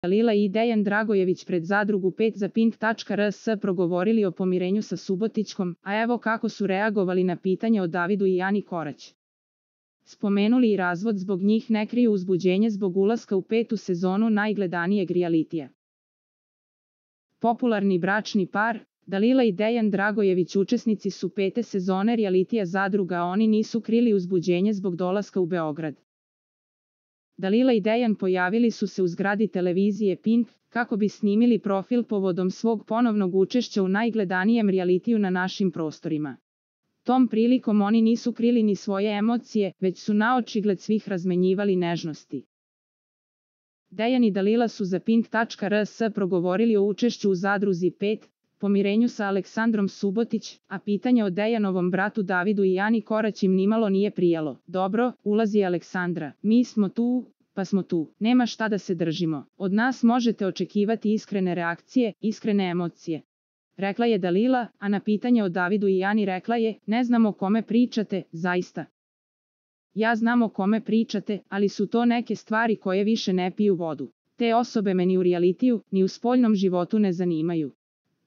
Dalila i Dejan Dragojević pred Zadrugu 5 za Pink.rs progovorili o pomirenju sa Subotićkom, a evo kako su reagovali na pitanje o Davidu i Ani Korać. Spomenuli i razvod zbog njih, ne kriju uzbuđenje zbog ulaska u 5. sezonu najgledanijeg realitija. Popularni bračni par, Dalila i Dejan Dragojević učesnici su 5. sezone realitija Zadruga, a oni nisu krili uzbuđenje zbog dolaska u Beograd. Dalila i Dejan pojavili su se u zgradi televizije Pink, kako bi snimili profil povodom svog ponovnog učešća u najgledanijem realitiju na našim prostorima. Tom prilikom oni nisu krili ni svoje emocije, već su naočigled svih razmenjivali nežnosti. Dejan i Dalila su za Pink.rs progovorili o učešću u Zadruzi 5, pomirenju sa Aleksandrom Subotić, a pitanje o Dejanovom bratu Davidu i Ani Korać im nimalo nije prijalo. Dobro, ulazi Aleksandra, mi smo tu, pa smo tu, nema šta da se držimo. Od nas možete očekivati iskrene reakcije, iskrene emocije. Rekla je Dalila, a na pitanje o Davidu i Ani rekla je, ne znam o kome pričate, zaista. Ja znam o kome pričate, ali su to neke stvari koje više ne piju vodu. Te osobe me ni u realitiju, ni u spoljnom životu ne zanimaju.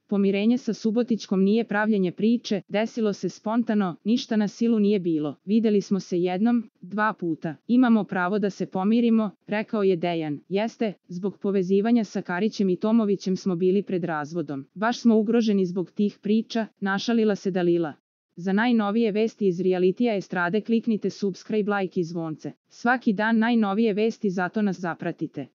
Pomirenje sa Subotićkom nije pravljenje priče, desilo se spontano, ništa na silu nije bilo. Videli smo se jednom, 2 puta. Imamo pravo da se pomirimo, rekao je Dejan. Jeste, zbog povezivanja sa Karićem i Tomovićem smo bili pred razvodom. Baš smo ugroženi zbog tih priča, našalila se Dalila. Za najnovije vesti iz realitija estrade kliknite subscribe, like i zvonce. Svaki dan najnovije vesti, zato nas zapratite.